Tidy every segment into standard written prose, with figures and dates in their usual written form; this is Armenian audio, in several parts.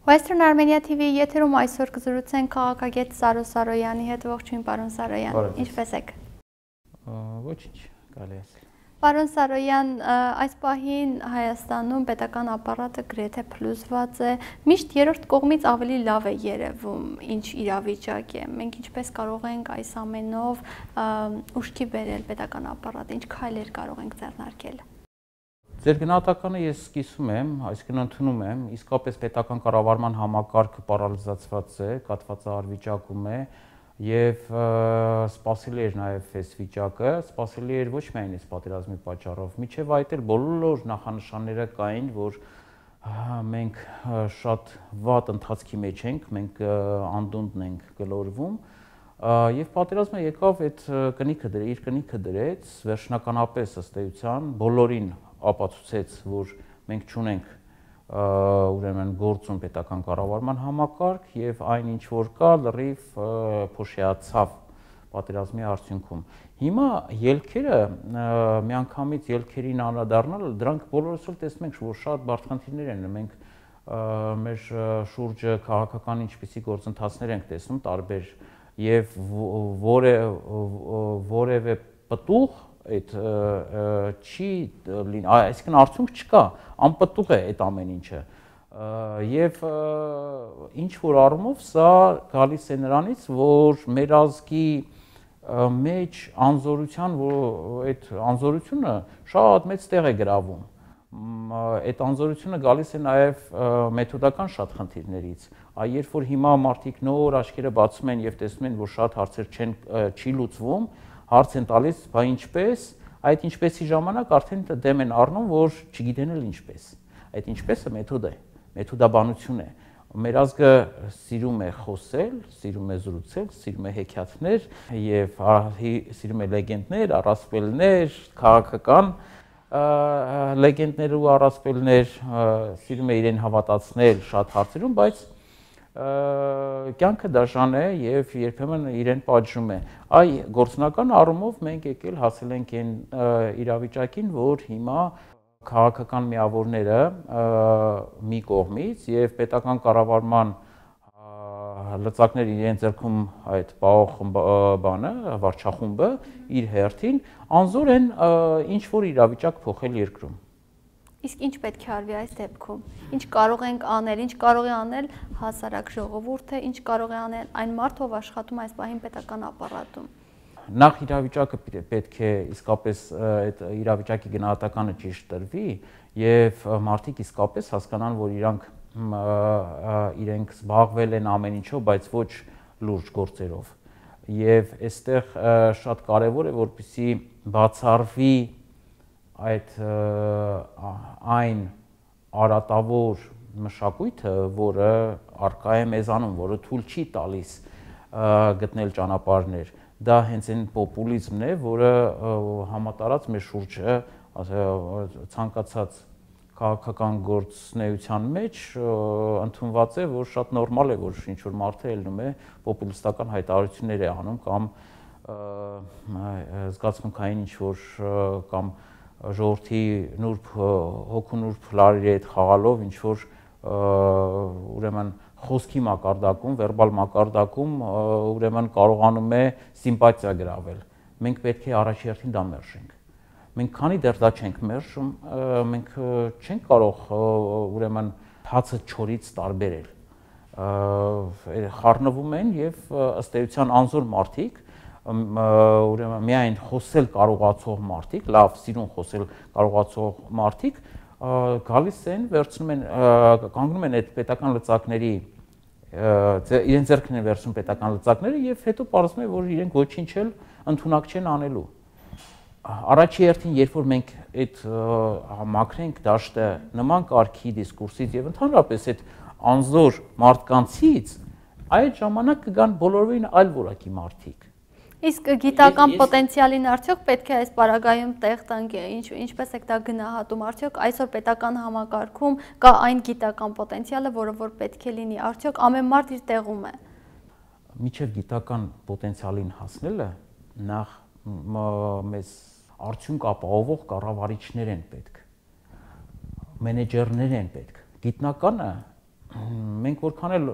Western Armenia TV եթերում այսօր կզրուցենք քաղաքագետ Սարո Սարոյանի հետ, ողջույն պարոն Սարոյան, ինչպե՞ս եք։ Ոչինչ, կարելի է ասել։ Պարոն Սարոյան, այս պահին Հայաստանում պետական ապարատը գրեթե փլուզված է, միշտ երրորդ կողմից ավելի լավ է երևում, ինչ իրավիճակ է։ Մենք ինչպես կարող ենք այս ամենով ուշքի բերել պետական ապարատը, ինչ քայլեր կարող ենք ձեռնարկել։ Ձեր գնահատականը ես սկսում եմ, այսինքն ընդունում եմ, իսկապես պետական կառավարման համակարգը պարալիզացված է, կաթվածահար վիճակում է եւ սպասելի էր նաեւ այս վիճակը, սպասելի էր ոչ միայն այս պատերազմի պատճառով, միջև այդ էլ բոլոր նախանշանները կային, որ մենք շատ վատ ընթացքի մեջ ենք, մենք անդունդն ենք գլորվում եւ պատերազմը եկավ այդ իր կնիքը դրեց, վերջնականապես ըստ էության բոլորին ապացուցեց, որ մենք չունենք ուրեմն գործուն պետական կառավարման համակարգ եւ այն ինչ որ կա լրիվ փոշիացավ պատերազմի արդյունքում։ Հիմա ելքերը միանգամից ելքերին անդրադառնալ, դրանք բոլորս էլ տեսնում ենք, որ շատ բարդ խնդիրներ են, մենք մեր շուրջը քաղաքական ինչպիսի գործընթացներ ենք տեսնում տարբեր եւ որևէ պտուղ այդ չի լինի, այսինքն արդյունք չկա, անպտուղ է այդ ամեն ինչը եւ ինչ որ առումով սա գալիս է նրանից, որ մեր ազգի մեջ անզորության, որ այդ անզորությունը շատ մեծ տեղ է գրավում, այդ անզորությունը գալիս է նաեւ մեթոդական շատ խնդիրներից, երբ որ հիմա մարդիկ նոր աչքերը բացում են եւ տեսնում են, որ շատ հարցեր չի լուծվում, հարց են տալիս, բա ինչպես, այդ ինչպեսի ժամանակ արդեն դեմ են առնում, որ չգիտեն էլ ինչպես։ Այդ ինչպեսը մեթոդ է, մեթոդաբանություն է։ Մեր ազգը սիրում է խոսել, սիրում է զրուցել, սիրում է հեքիաթներ եւ սիրում է լեգենդներ, առասպելներ, քաղաքական լեգենդներ ու առասպելներ, սիրում է իրեն հավատացնել շատ հարցերում, բայց կյանքը դաժան է եւ երբեմն իրեն պատժում է։ Այ գործնական առումով մենք եկել հասել ենք այն իրավիճակին, որ հիմա քաղաքական միավորները մի կողմից եւ պետական կառավարման լծակներ իրեն ձեռքում այդ պահող բանը, վարչախումբը իր հերթին անզոր են ինչ որ իրավիճակ փոխել երկրում։ Իսկ ինչ պետք է արվի այս դեպքում։ Ինչ կարող ենք անել, ինչ կարող է անել հասարակ ժողովուրդը, ինչ կարող է անել այն մարդը, ով աշխատում այս պահին պետական ապարատում։ Նախ իրավիճակը պետք է իսկապես այդ իրավիճակի գնահատականը ճիշտ տրվի եւ մարդիկ իսկապես հասկանան, որ իրենք զբաղվել են ամեն ինչով, բայց ոչ լուրջ գործերով։ Եվ այստեղ շատ կարեւոր է, որպեսզի բացառվի այն արատավոր մշակույթը, որը առկա է մեզանում, որը թույլ չի տալիս գտնել ճանապարհներ, դա հենց այն պոպուլիզմն է, որը համատարած մեր շուրջը ցանկացած քաղաքական գործունեության մեջ ընդունված է, որ շատ նորմալ է, որ ինչ որ մարդը ելնում է պոպուլիստական հայտարարություններ է անում կամ զգացմունքային ինչ որ կամ ժողովրդի նուրբ հոգու նուրբ լարերի հետ խաղալով ինչ որ ուրեմն խոսքի մակարդակում, վերբալ մակարդակում ուրեմն կարողանում է սիմպաթիա գրավել։ Մենք պետք է առաջի հերթին դա մերժենք։ Մենք քանի դեռ դա չենք մերժում, մենք չենք կարող ուրեմն հացը չորից տարբերել։ Խառնվում են եւ ըստ էության անզոր մարդիկ ուրեմն միայն խոսել կարողացող մարդիկ, լավ սիրուն խոսել կարողացող մարդիկ գալիս են, վերցնում են, կանգնում են այդ պետական լծակների, իրենց ձեռքին են վերցնում պետական լծակները եւ հետո պարզվում է, որ իրենք ոչինչ էլ ընդունակ չեն անելու։ Առաջի հերթին, երբ որ մենք այդ մաքրենք դաշտը նման կարգի դիսկուրսից եւ ընդհանրապես այդ անզոր մարդկանցից, այդ ժամանակ կգան բոլորովին այլ որակի մարդիկ։ Իսկ գիտական պոտենցիալին արդյոք պետք է այս պարագայում տեղ տանք, ինչպես եք դա գնահատում, արդյոք այսօր պետական համակարգում կա այն գիտական պոտենցիալը, որը որ պետք է լինի, արդյոք ամեն մարդ իր տեղում է։ Միջև գիտական պոտենցիալին հասնելը նախ մեզ արդյունք ապահովող կառավարիչներ են պետք, մենեջերներ են պետք։ Գիտնականը մենք որքան էլ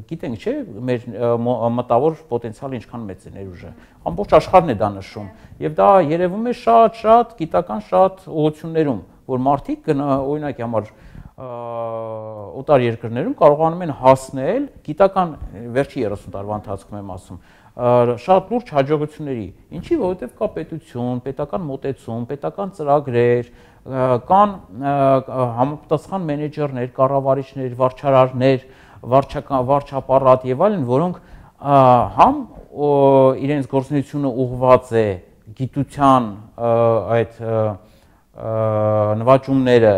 գիտենք, չէ, մեր մտավոր պոտենցիալը ինչքան մեծ է ներուժը։ Ամբողջ աշխարհն է դա նշում։ Եվ դա երևում է շատ գիտական շատ ուղղություններում, որ մարդիկ օրինակի համար օտար երկրներում կարողանում են հասնել գիտական վերջի 30 տարվա ընթացքում եմ ասում, շատ լուրջ հաջողությունների։ Ինչի, որովհետև կա պետություն, պետական մոտեցում, պետական ծրագրեր, կան համապատասխան մենեջերներ, կառավարիչներ, վարչարարներ, վարչապարատ եւ այլն, որոնք համ իրենց գործունեությունը ուղղված է գիտության այդ նվաճումները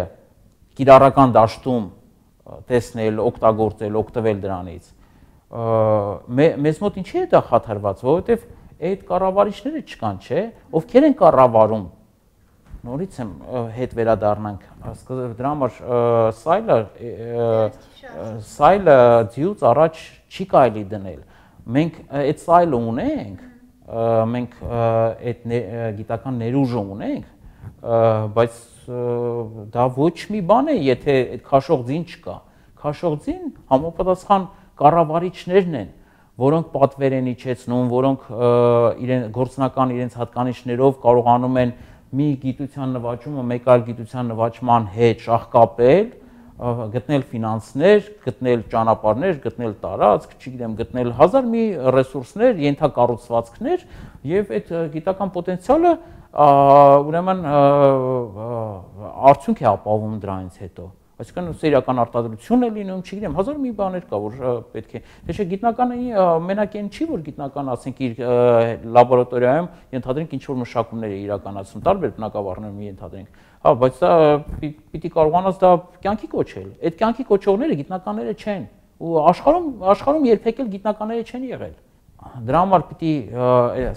կիրառական դաշտում տեսնել, օգտագործել, օգտվել դրանից։ Մեզ մոտ ինչի է դա խաթարված, որովհետեւ այդ կառավարիչները չկան, չէ, ովքեր են կառավարում։ Նորից եմ հետ վերադառնանք, դրա համար սայլը ձյուց առաջ չի կարելի դնել։ Մենք այդ սայլը ունենք, մենք այդ գիտական ներուժը ունենք, բայց դա ոչ մի բան է, եթե այդ քաշող ձին չկա։ Քաշող ձին համապատասխան կառավարիչներն են, որոնք պատվեր են իջեցնում, որոնք գործնական իրենց հատկանիշներով կարողանում են մի գիտության նվաճումը մեկ այլ գիտության նվաճման հետ շահկապել, գտնել ֆինանսներ, գտնել ճանապարհներ, գտնել տարածք, չգիտեմ, գտնել հազար մի ռեսուրսներ, ենթակառուցվածքներ եւ այդ գիտական պոտենցիալը ուրեմն արդյունք է ապահովում դրանից հետո։ Այսինքն սերիական արտադրություն է լինում, չգիտեմ, հազար մի բաներ կա, որ պետք է։ Թե չէ գիտնականը մենակ այն չի, որ գիտնականը, ասենք, իր լաբորատորիայում ենթադրենք ինչ-որ մշակումներ է իրականացնում, տարբեր բնակավարներում ենթադրենք։ Հա, բայց դա պիտի կարողանաս դա կյանքի կոչել։ Այդ կյանքի կոչողները գիտնականները չեն։ Ու աշխարհում երբեք էլ գիտնականները չեն եղել։ Դրա համար պիտի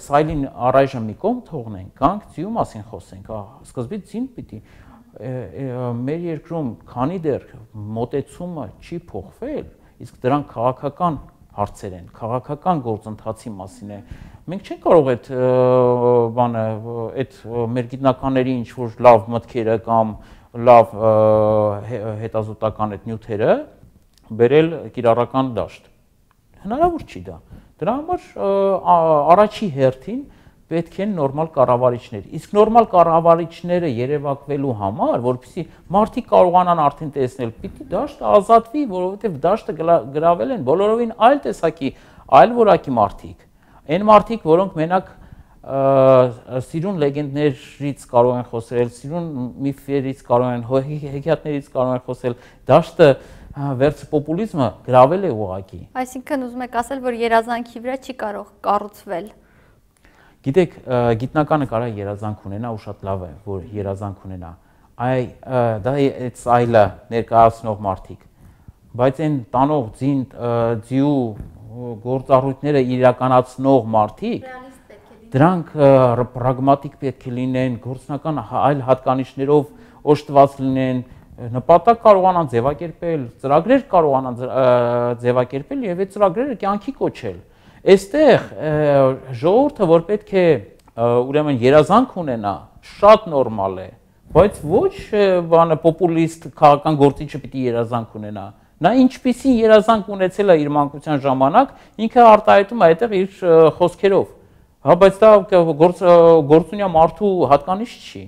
սայլին առայժմ մի կողմ թողնենք, գանք ձիու մասին խոսենք, սկզբից ձին պիտի մեր երկրում քանի դեռ մոտեցումը չի փոխվել, իսկ դրանք քաղաքական հարցեր են, քաղաքական գործընթացի մասին է։ Մենք չենք կարող այդ բանը, այդ մեր գիտնականների ինչ որ լավ մտքերը կամ լավ հետազոտական այդ նյութերը բերել կիրառական դաշտ։ Հնարավոր չի դա։ Դրա համար առաջի հերթին պետք են նորմալ կառավարիչներ։ Իսկ նորմալ կառավարիչները երևակվելու համար, որպեսզի մարդիկ կարողանան արդեն տեսնել, պիտի դաշտը ազատվի, որովհետև դաշտը գրավել են բոլորովին այլ տեսակի, այլ որակի մարդիկ։ Այն մարդիկ, որոնք մենակ սիրուն լեգենդներից կարող են խոսել, սիրուն միֆերից կարող են, հեքիաթներից կարող են խոսել, դաշտը վերջ պոպուլիզմը գրավել է ուղղակի։ Այսինքն ուզում եք ասել, որ երազանքի վրա չի կարող կառուցվել։ Գիտեք, գիտնականը կարող է երազանք ունենա ու շատ լավ է, որ երազանք ունենա։ Դա այդ սայլը ներկայացնող մարդիկ, բայց այն տանող ձիու գործառույթները իրականացնող մարդիկ, դրանք պրագմատիկ պետք է լինեն, գործնական այլ հատկանիշներով օժտված լինեն, նպատակ կարողանան ձևակերպել, ծրագրեր կարողանան ձևակերպել եւ այդ ծրագրերը կյանքի կոչել։ Այստեղ ժողովուրդը, որ պետք է ուրեմն երազանք ունենա, շատ նորմալ է, բայց ոչ բանը պոպուլիստ քաղաքական գործիչը պիտի երազանք ունենա։ Նա ինչպիսի երազանք ունեցել է իր մանկության ժամանակ, ինքը արտահայտում է այդտեղ իր խոսքերով։ Հա, բայց դա գործունյա մարդու հատկանիշ չի։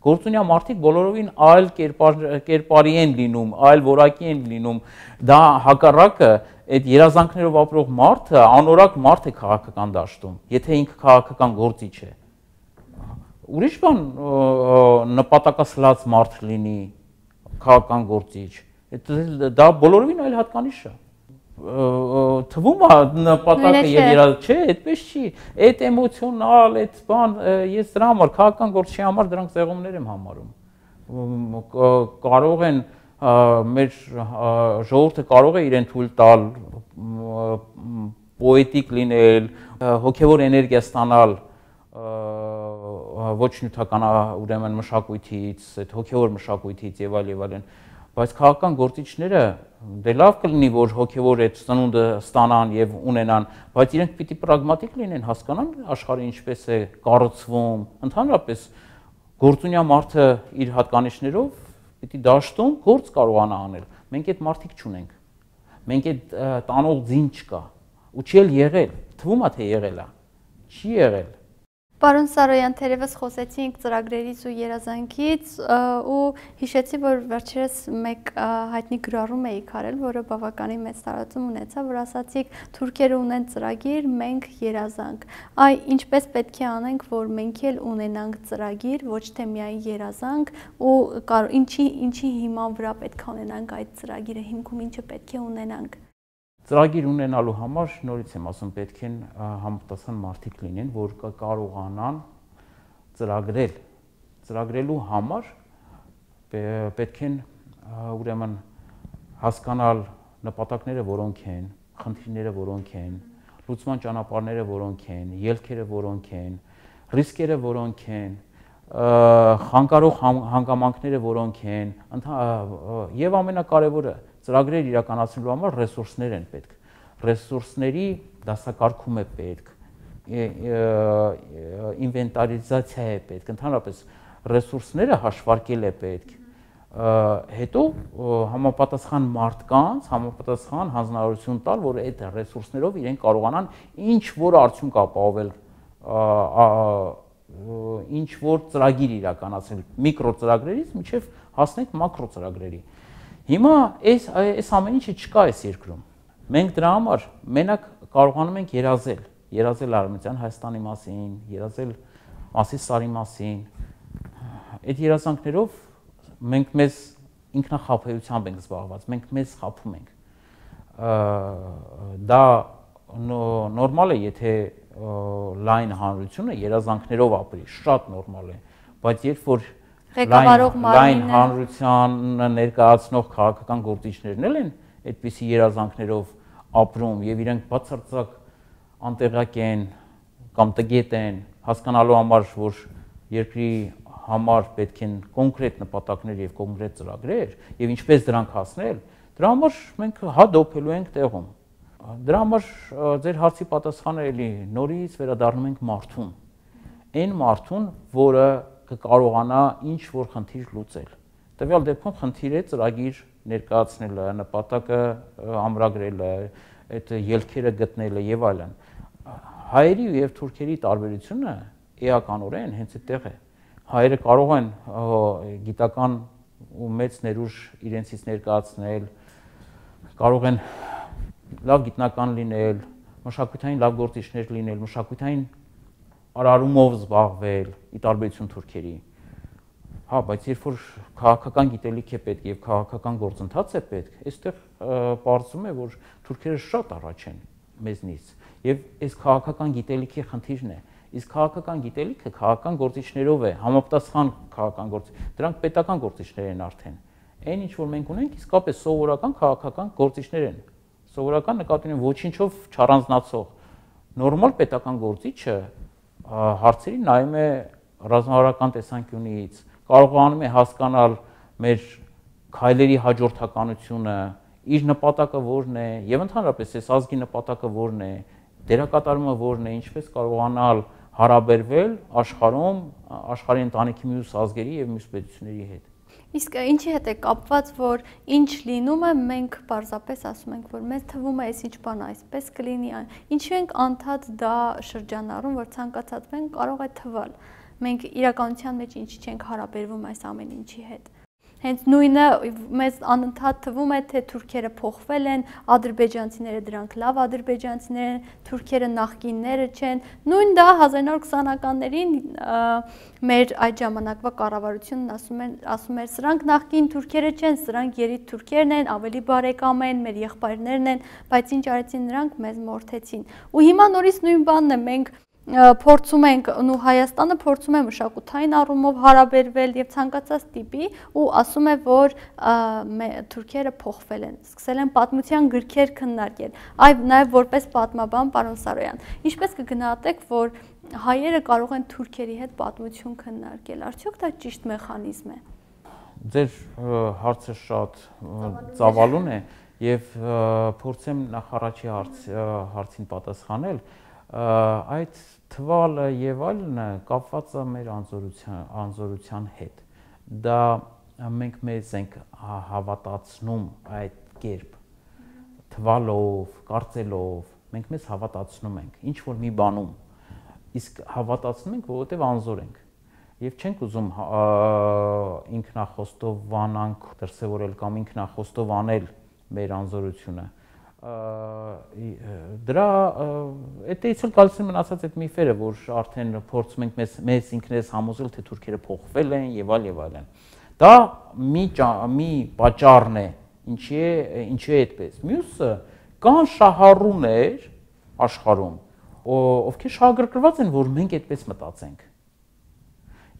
Գործունյա մարդիկ բոլորովին այլ կերպարի են լինում, այլ որակի են լինում։ Դա հակառակը այդ երազանքներով ապրող մարդը անորակ մարդ է քաղաքական դաշտում, եթե ինքը քաղաքական գործիչ է։ Ուրիշ բան նպատակասլաց մարդ լինի, քաղաքական գործիչ։ Դա բոլորովին այլ հատկանիշ է։ Թվում է նպատակը եւ երազանքը, չէ, այդպես չի։ Այդ էմոցիոնալ, այդ բան, ես դրա համար քաղաքական գործչի համար դրանք ձեղումներ եմ համարում։ Կարող են մեր ժողովուրդը կարող է իրեն թույլ տալ պոետիկ լինել, հոգեվոր էներգիա ստանալ ոչ նյութական ուրեմն մշակույթից, այդ հոգեվոր մշակույթից եւ այլն, բայց քաղաքական գործիչները դե լավ կլինի, որ հոգեվոր այդ ծնունդը ստանան եւ ունենան, բայց իրենք պիտի պրագմատիկ լինեն, հասկանան աշխարհը ինչպես է կառուցվում, ընդհանրապես գործունյա մարդը իր հատկանիշներով պիտի դաշտում գործ կարողանա անել, մենք այդ մարդիկ չունենք։ Մենք այդ տանող ձին չկա, ու չի էլ եղել, թվում է թե եղել է, չի եղել։ Պարոն Սարոյան, թերևս խոսեցինք ծրագրերից ու երազանքից ու հիշեցի, որ վերջերս մեկ հայտնի գրառում էիք արել, որը բավականին մեծ տարածում ունեցավ, որ ասացիք թուրքերը ունեն ծրագիր, մենք երազանք։ Այ ինչպես պետք է անենք, որ մենք էլ ունենանք ծրագիր, ոչ թե միայն երազանք, ու ինչի հիման վրա պետք է ունենանք այդ ծրագիրը, հիմքում ինչը պետք է ունենանք։ Ծրագիր ունենալու համար նորից եմ ասում, պետք են համապատասխան մարդիկ լինեն, որ կարողանան ծրագրել։ Ծրագրելու համար պետք են ուրեմն հասկանալ նպատակները որոնք են, խնդիրները որոնք են, լուծման ճանապարհները որոնք են, ելքերը որոնք են, ռիսկերը որոնք են, խանգարող հանգամանքները որոնք են, եւ ամենակարևորը ծրագրեր իրականացնելու համար ռեսուրսներ են պետք։ Ռեսուրսների դասակարգում է պետք, ինվենտարիզացիա է պետք, ընդհանրապես ռեսուրսները հաշվարկել է պետք։ Հետո համապատասխան մարդկանց, համապատասխան հանձնարարություն տալ, որ այդ ռեսուրսներով իրենք կարողանան ինչ որ արդյունք ապահովել, ինչ որ ծրագիր իրականացնել, միկրո ծրագրերից մինչև հասնենք մակրո ծրագրերի։ Հիմա այս ամեն ինչը չկա այս երկրում։ Մենք դրա համար մենակ կարողանում ենք երազել Արևմտյան Հայաստանի մասին, երազել Մասիս Սարի մասին։ Այդ երազանքներով մենք մեզ ինքնախաբեությամբ ենք զբաղված, մենք մեզ խաբում ենք։ Դա նորմալ է, եթե լայն հանրությունը երազանքներով ապրի, շատ նորմալ է, բայց երբ որ լայն հանրությանը ներկայացնող քաղաքական գործիչներն են այդպիսի երազանքներով ապրում եւ իրենք բացարձակ անտեղյակ են կամ տգետ են, հասկանալու համար, որ երկրի համար պետք են կոնկրետ նպատակներ եւ կոնկրետ ծրագրեր եւ ինչպես դրանք հասնել, դրա համար մենք հադոփելու ենք տեղում։ Դրա համար ձեր հարցի պատասխանը էլի նորից վերադառնում ենք մարդուն։ Այն մարդուն, որը կկարողանա ինչ որ խնդիր լուծել։ Տվյալ դեպքում խնդիր է ծրագիր ներկայացնելը, նպատակը ամրագրելը, այդ ելքերը գտնելը եւ այլն։ Հայերի եւ թուրքերի տարբերությունը էականորեն հենց այդտեղ է։ Հայերը կարող են գիտական ու մեծ ներուժ իրենցից ներկայացնել, կարող են լավ գիտնական լինել, մշակութային լավ գործիչներ լինել, մշակութային արարումով զբաղվել, ի տարբերություն թուրքերի։ Հա, բայց երբ որ քաղաքական գիտելիք է պետք եւ քաղաքական գործընթաց է պետք, այստեղ պարզվում է, որ թուրքերը շատ առաջ են մեզնից եւ այս քաղաքական գիտելիքի խնդիրն է։ Իսկ քաղաքական գիտելիքը քաղաքական գործիչներով է, համապատասխան քաղաքական գործիչ։ Դրանք պետական գործիչներ են արդեն։ Այն ինչ որ մենք ունենք, իսկապես սովորական քաղաքական գործիչներ են։ Սովորական նկատի ունեմ ոչինչով չառանձնացող նորմալ պետական գործիչը հարցերի նայում է ռազմավարական տեսանկյունից, կարողանում է հասկանալ մեր քայլերի հաջորդականությունը, իր նպատակը որն է եւ ընդհանրապես այս ազգի նպատակը որն է, դերակատարումը որն է, ինչպես կարողանալ հարաբերվել աշխարհում, աշխարհի ընտանիքի մյուս ազգերի եւ մյուս պետությունների հետ։ Իսկ ինչի հետ է կապված, որ ինչ լինում է, մենք պարզապես ասում ենք, որ մեզ թվում է այսինչ բան այսպես կլինի, ինչու ենք անդադ դա շրջանառում, որ ցանկացած մենք կարող է թվալ։ Մենք իրականության մեջ ինչի չենք հարաբերվում այս ամեն ինչի հետ։ Հենց նույնը մեզ անընդհատ թվում է, թե թուրքերը փոխվել են, ադրբեջանցիները դրանք լավ ադրբեջանցիներ են, թուրքերը նախկինները չեն։ Նույն դա 1920-ականներին մեր այդ ժամանակվա կառավարությունն ասում էր, սրանք նախկին թուրքերը չեն, սրանք երիտ թուրքերն են, ավելի բարեկամ են, մեր եղբայրներն են, բայց ինչ արեցին նրանք, մեզ մորթեցին։ Ու հիմա նորից նույն բանն է, մենք փորձում ենք ու Հայաստանը փորձում է մշակութային առումով հարաբերվել եւ ցանկացած տիպի ու ասում է, որ թուրքերը փոխվել են, սկսել են պատմության գրքեր քննարկել։ Այ նաեւ որպես պատմաբան, պարոն Սարոյան, ինչպես կգնահատեք, որ հայերը կարող են թուրքերի հետ պատմություն քննարկել, արդյոք դա ճիշտ մեխանիզմ է։ Ձեր հարցը շատ ծավալուն է եւ փորձեմ նախ առաջի հարցին պատասխանել։ Այդ թվալը եւ այլն կապված է մեր անզորության հետ։ Դա մենք մեզ ենք հավատացնում այդ կերպ թվալով, կարծելով, մենք մեզ հավատացնում ենք ինչ որ մի բանում, իսկ հավատացնում ենք, որովհետև անզոր ենք եւ չենք ուզում ինքնախոստովանանք դրսևորել կամ ինքնախոստովանել մեր անզորությունը դրա այդտեղից էլ գալիս են մնացած այդ միֆերը, որ արդեն փորձում ենք մեզ ինքներս համոզել, թե թուրքերը փոխվել են եւ այլն։ Դա մի պատճառն է, ինչի է այդպես։ Մյուսը կան շահառուներ աշխարհում, ովքեր շահագրգռված են, որ մենք այդպես մտածենք։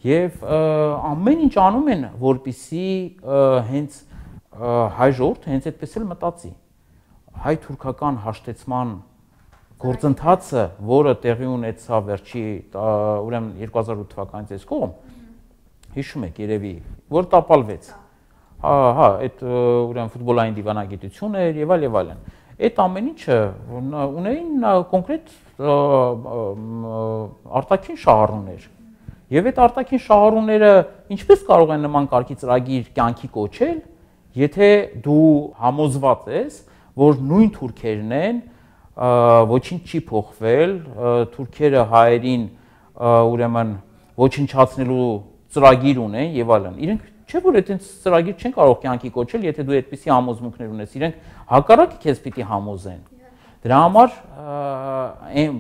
Եվ ամեն ինչ անում են, որպեսզի հենց հայ ժողովուրդը հենց այդպես էլ մտածի։ Հայ-թուրքական հաշտեցման գործընթացը, որը տեղի ունեցավ վերջի, ուրեմն 2008 թվականից այս կողմ, հիշում եք երևի, որ տապալվեց։ Այդ ուրեմն ֆուտբոլային դիվանագիտություն էր եւ այլն։ Այդ ամեն ինչը ունեին կոնկրետ արտաքին շահառուներ։ Եվ այդ արտաքին շահառուները ինչպես կարող են նման կարգի ծրագիր կյանքի կոչել, եթե դու համոզված ես, որ նույն թուրքերն են, ոչինչ չի փոխվել, թուրքերը հայերին ուրեմն ոչնչացնելու ծրագիր ունեն եւ այլն։ Իրենք չէ՞ որ այդպես ծրագիր չեն կարող կյանքի կոչել, եթե դու այդպիսի համոզմունքներ ունես, իրենք հակառակը քեզ պիտի համոզեն։ Դրա համար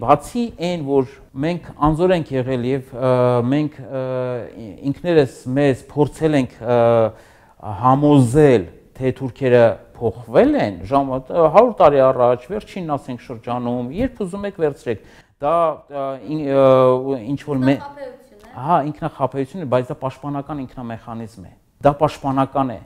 բացի այն, որ մենք անզոր ենք եղել եւ մենք ինքներս մեզ փորձել ենք համոզել, թե թուրքերը փոխվել են 100 տարի առաջ, վերջինն ասենք շրջանում, երբ ուզում եք վերցրեք, դա ինչ որ ինքնախապեյություն է, բայց դա պաշտպանական ինքնամեխանիզմ է։ Դա պաշտպանական է,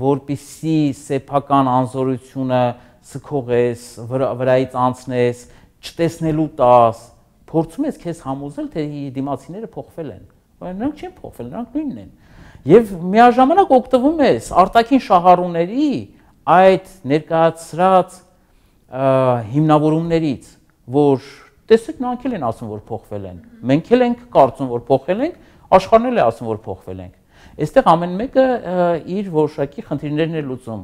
որպեսզի սեփական անզորությունը սքողես, վրայից անցնես, չտեսնելու տաս, փորձում ես քեզ համոզել, թե դիմացիները փոխվել են։ Նրանք չեն փոխվել, նրանք նույնն են։ Եվ միաժամանակ օգտվում ես արտաքին շահառուների այդ ներկայացրած հիմնավորումներից, որ տեսեք նրանք էլ են ասում, որ փոխվել են։ Մենք էլ ենք կարծում, որ փոխվել ենք, աշխարհն էլ է ասում, որ փոխվել ենք։ Այստեղ ամեն մեկը իր որոշակի խնդիրներն է լուծում։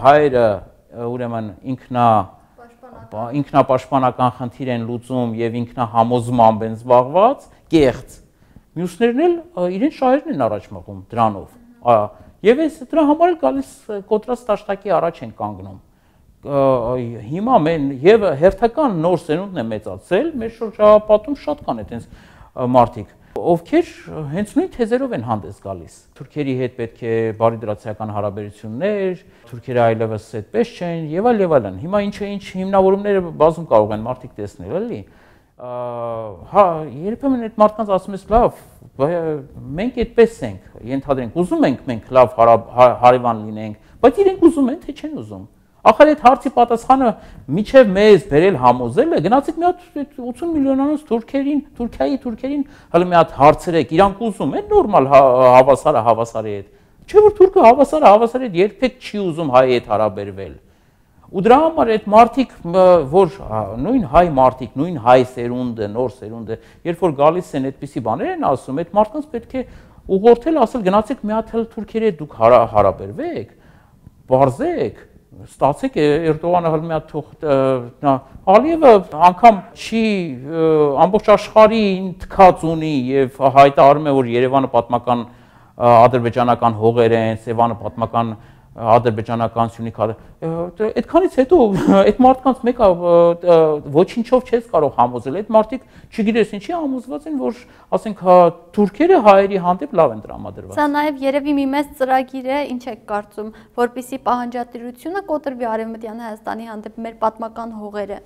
Հայերը ուրեմն ինքնապաշտպանական խնդիր են լուծում եւ ինքնահամոզմամբ են զբաղված, կեղծ։ Մյուսներն էլ իրենց շահերն են առաջ մղում դրանով։ Եվ այս դրա համար էլ գալիս կոտրած տաշտակի առաջ են կանգնում։ Հիմա մեն եւ հերթական նոր սերունդն է մեծացել, մեր շրջապատում շատ կան այդպես մարդիկ, ովքեր հենց նույն թեզերով են հանդես գալիս։ Թուրքերի հետ պետք է բարիդրացիական հարաբերություններ, թուրքերը այլևս այդպես չեն եւ այլն։ Հիմա ինչ հիմնավորումները բազում կարող են մարդիկ տեսնել, էլի։ Երբեմն այդ մարդկանց ասում ես լավ, մենք այդպես ենք, ենթադրենք, ուզում ենք մենք լավ հարևան լինենք, բայց իրենք ուզում են, թե չեն ուզում։ Ախր այդ հարցի պատասխանը միջև մեզ բերել համոզելը, գնացեք մի հատ 80 միլիոնանոց թուրքերին հələ մի հատ հարցրեք, իրանք ուզում են նորմալ հավասարի հետ։ Չէ՞ որ թուրքը հավասարի հետ երբեք չի ուզում հայի հետ հարաբերվել։ Ու դրա համար այդ մարդիկ, որ նույն հայ մարդիկ, նույն հայ սերունդը, նոր սերունդը, երբ որ գալիս են այդպիսի բաներ են ասում, այդ մարդկանց պետք է ուղղորդել, ասել գնացեք մի հատ թուրքերի հետ դուք հարաբերվեք, բարձեք, ստացեք Էրդողանը հələ մի հատ թող Ալիևը անգամ չի ամբողջ աշխարհին թքած ունի եւ հայտարարում է, որ Երևանը պատմական ադրբեջանական հողեր են, Սևանը պատմական ադրբեջանական Սյունիք, այդքանից հետո այդ մարդկանց մեկը ոչինչով չես կարող համոզել, այդ մարդիկ չգիտես ինչի համոզված են, որ ասենք թուրքերը հայերի հանդեպ լավ են տրամադրված։ Սա նաև երևի մի մեծ ծրագիր է, ինչ եք կարծում, որպեսզի պահանջատիրությունը կոտրվի Արևմտյան Հայաստանի հանդեպ մեր պատմական հողերը,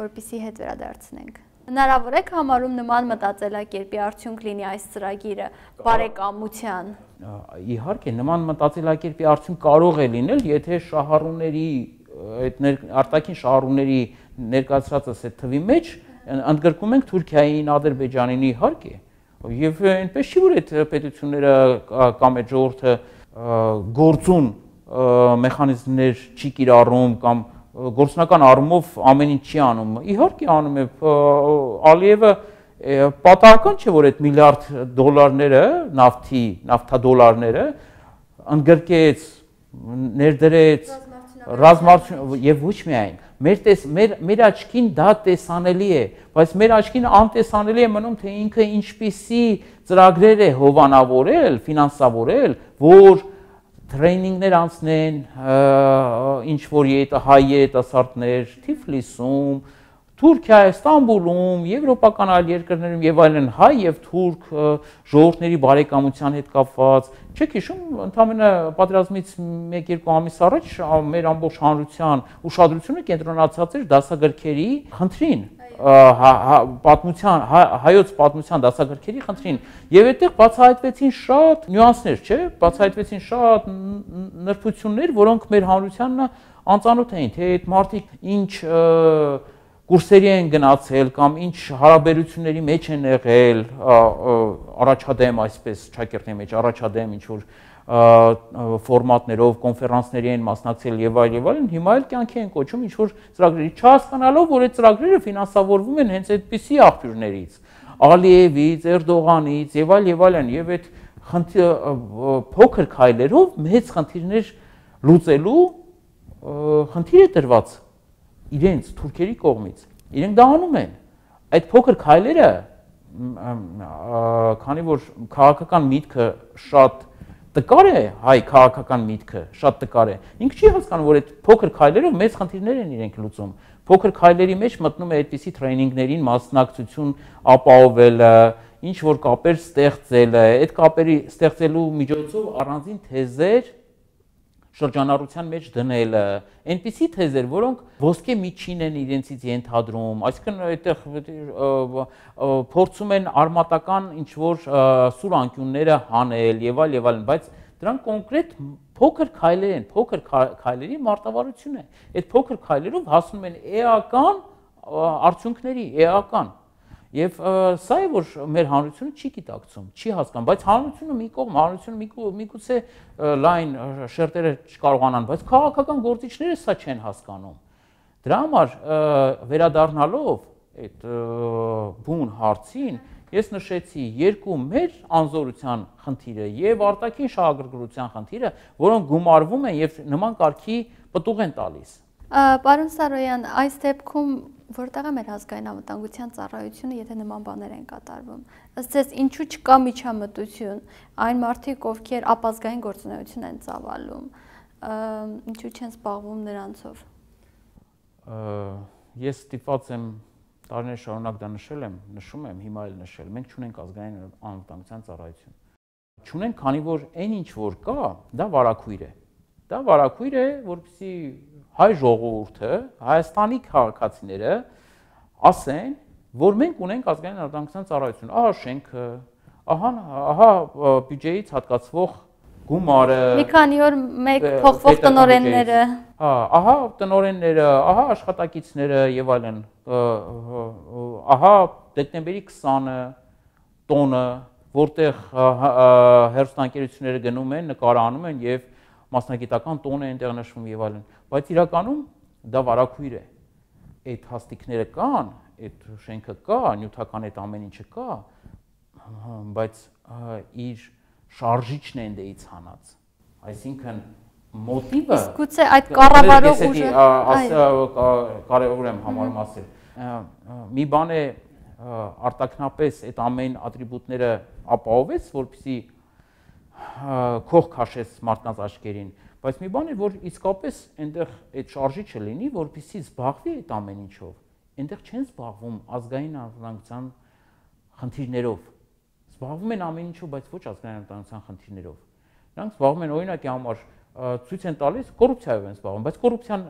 որպեսզի հետ վերադարձնենք։ Հնարավոր է համարում նման մտածելակերպի արդյունք լինի այս ծրագիրը բարեկամության։ Իհարկե, նման մտածելակերպի արդյունք կարող է լինել, եթե շահառուների այդ արտաքին շահառուների ներկայացրածս այդ թվի մեջ ընդգրկում ենք Թուրքիային, Ադրբեջանին, իհարկե։ Եվ այնպես չի, որ այդ պետությունները կամ այդ ժողովուրդը գործուն մեխանիզմներ չի կիրառում կամ գործնական առումով ամեն ինչ չի անում։ Իհարկե անում է Ալիևը պատահական չէ, որ այդ միլիարդ դոլարները, նավթադոլարները ընդգրկեց, ներդրեց ռազմարտություն եւ ոչ միայն մեր աչքին դա տեսանելի է, բայց մեր աչքին անտեսանելի է մնում, թե ինքը ինչպիսի ծրագրեր է հովանավորել, ֆինանսավորել, որ տրեյնինգներ անցնեն, ինչ որ հայ երիտասարդներ Թիֆլիսում, Թուրքիա, Ստամբուլում, եվրոպական այլ երկրներում եւ այլն հայ եւ թուրք ժողովուրդների բարեկամության հետ կապված, չեք հիշում, ընդամենը պատերազմից 1-2 ամիս առաջ մեր ամբողջ հանրության ուշադրությունը կենտրոնացած էր դասագրքերի խնդրին, պատմության հայոց պատմության դասագրքերի խնդրին եւ այդտեղ բացահայտվեցին շատ նյուանսներ, չէ՞, բացահայտվեցին շատ նրբություններ, որոնք մեր հանրությանն անծանոթ էին, թե այդ մարդիկ ինչ կուրսերի են գնացել կամ ինչ հարաբերությունների մեջ են եղել, առաջադեմ այսպես ճակերտի մեջ առաջադեմ ինչ որ ֆորմատներով կոնֆերանսների են մասնակցել եւ այլն, հիմա էլ կյանքի են կոչում ինչ որ ծրագրերի, չհասկանալով, որ այդ ծրագրերը ֆինանսավորվում են հենց այդպիսի աղբյուրներից, Ալիևից, Էրդողանից եւ այլն, եւ այդ փոքր քայլերով մեծ խնդիրներ լուծելու խնդիր է տրված իրենց թուրքերի կողմից, իրենք դա անում են, այդ փոքր քայլերը, քանի որ քաղաքական միտքը շատ տկար է, հայ քաղաքական միտքը շատ տկար է, ինքը չի հասկանում, որ այդ փոքր քայլերով մեծ խնդիրներ են իրենք լուծում, փոքր քայլերի մեջ մտնում է այդպիսի տրեյնինգներին մասնակցություն ապահովելը, ինչ որ կապեր ստեղծելը, այդ կապերի ստեղծելու միջոցով առանձին թեզեր շրջանառության մեջ դնելը, այնպիսի թեզեր, որոնք ոսկե միջին են իրենցից ենթադրում, այսինքն այդտեղ փորձում են արմատական ինչ որ սուր անկյունները հանել եւ այլն, բայց դրանք կոնկրետ փոքր քայլեր են, փոքր քայլերի մարտավարություն է։ Այդ փոքր քայլերով հասնում են էական արդյունքների, էական։ Եվ սա է, որ մեր հանրությունը չի գիտակցում, չի հասկանում, բայց հանրությունը մի կողմ, հանրությունը միգուցե լայն շերտերը չկարողանան, բայց քաղաքական գործիչները սա չեն հասկանում։ Դրա համար վերադառնալով այդ բուն հարցին, ես նշեցի երկու մեր անզորության խնդիրը եւ արտաքին շահագրգռության խնդիրը, որոնք գումարվում են եւ նման կարգի պտուղ են տալիս։ Պարոն Սարոյան, այս դեպքում որտեղ է մեր ազգային անվտանգության ծառայությունը, եթե նման բաներ են կատարվում։ Ըստ ձեզ, ինչու չկա միջամտություն, այն մարդիկ, ովքեր ապազգային գործունեություն են ծավալում, ինչու չեն զբաղվում նրանցով։ Ես ստիպված եմ տարիներ շարունակ դա նշում եմ, հիմա էլ նշել, մենք չունենք ազգային անվտանգության ծառայություն։ Չունենք, քանի որ այն ինչ որ կա, դա վարակույր է։ Դա վարակույր է, որպեսզի հայ ժողովուրդը, Հայաստանի քաղաքացիները ասեն, որ մենք ունենք ազգային անվտանգության ծառայություն, ահա շենքը, ահա բյուջեից հատկացվող գումարը, մի քանի օր մեկ փոխվող տնօրենները, ահա տնօրենները, ահա աշխատակիցները եւ այլն, ահա դեկտեմբերի 20-ը տոնը, որտեղ հերոստանգերությունները գնում են, նկարահանում են եւ մասնագիտական տոն է այնտեղ նշվում եւ այլն, բայց իրականում դա վարակույր է։ Այդ հաստիկները կան, այդ շենքը կա, նյութական այդ ամեն ինչը կա, բայց իր շարժիչն է այնտեղից հանած։ Այսինքն մոտիվը գուցե այդ կառավարող ուժը կարևոր եմ համարում ասել։ Մի բան է արտաքնապես այդ ամեն ատրիբուտները ապահովեց, որպեսզի քող քաշեց մարդկանց աչքերին, բայց մի բան է, որ իսկապես այնտեղ այդ շարժիչը լինի, որպեսզի զբաղվի այդ ամեն ինչով։ Այնտեղ չեն զբաղվում ազգային անվտանգության խնդիրներով։ Զբաղվում են ամեն ինչով, բայց ոչ ազգային անվտանգության խնդիրներով։ Նրանք զբաղվում են օրինակի համար ցույց են տալիս կոռուպցիայով են զբաղվում, բայց կոռուպցիան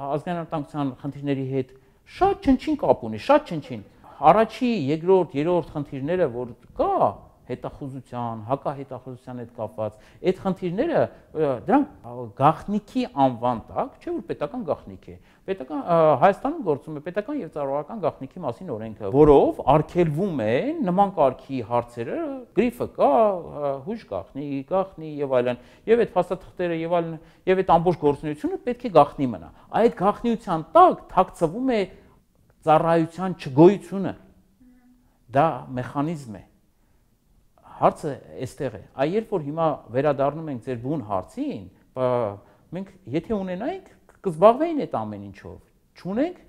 ազգային անվտանգության խնդիրների հետ շատ չնչին կապ ունի, շատ չնչին։ Առաջի, երկրորդ, երրորդ խնդիրները, որ կա հետախուզության, հակահետախուզության հետ կապված, այդ խնդիրները դրանք գաղտնիքի անվան տակ, չէ՞ որ պետական գաղտնիք է։ Պետական Հայաստանում գործում է պետական եւ ծառայական գաղտնիքի մասին օրենքը, որով արգելվում է նման կարգի հարցերը, գրիֆը կա, հույժ գաղտնի եւ այլն, եւ այդ փաստաթղթերը եւ այլն, եւ այդ ամբողջ գործունեությունը պետք է գաղտնի մնա։ Այդ գաղտնիության տակ թաքցվում է ծառայության չգոյությունը։ դա մեխանիզմ է։ Հարցը այստեղ է։ Այ երբ որ հիմա վերադառնում ենք ձեր բուն հարցին, մենք եթե ունենայինք, կզբաղվեին այդ ամեն ինչով։ Չունենք,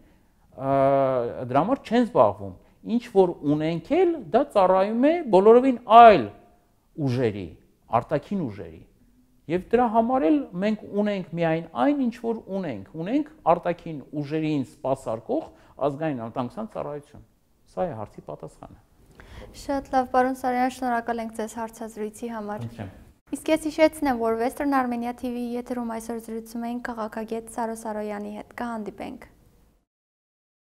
դրա համար չեն զբաղվում։ Ինչ որ ունենք էլ, դա ծառայում է բոլորովին այլ ուժերի, արտաքին ուժերի։ Եվ դրա համար էլ մենք ունենք միայն այն, ինչ որ ունենք արտաքին ուժերին սպասարկող ազգային անվտանգության ծառայություն։ Սա է հարցի պատասխանը։ Շատ լավ, պարոն Սարոյան, շնորհակալ ենք ձեզ հարցազրույցի համար։ Իսկ ես հիշեցնեմ, որ Western Armenia TV եթերում այսօր զրուցում էինք քաղաքագետ Սարո Սարոյանի հետ։ Կհանդիպենք։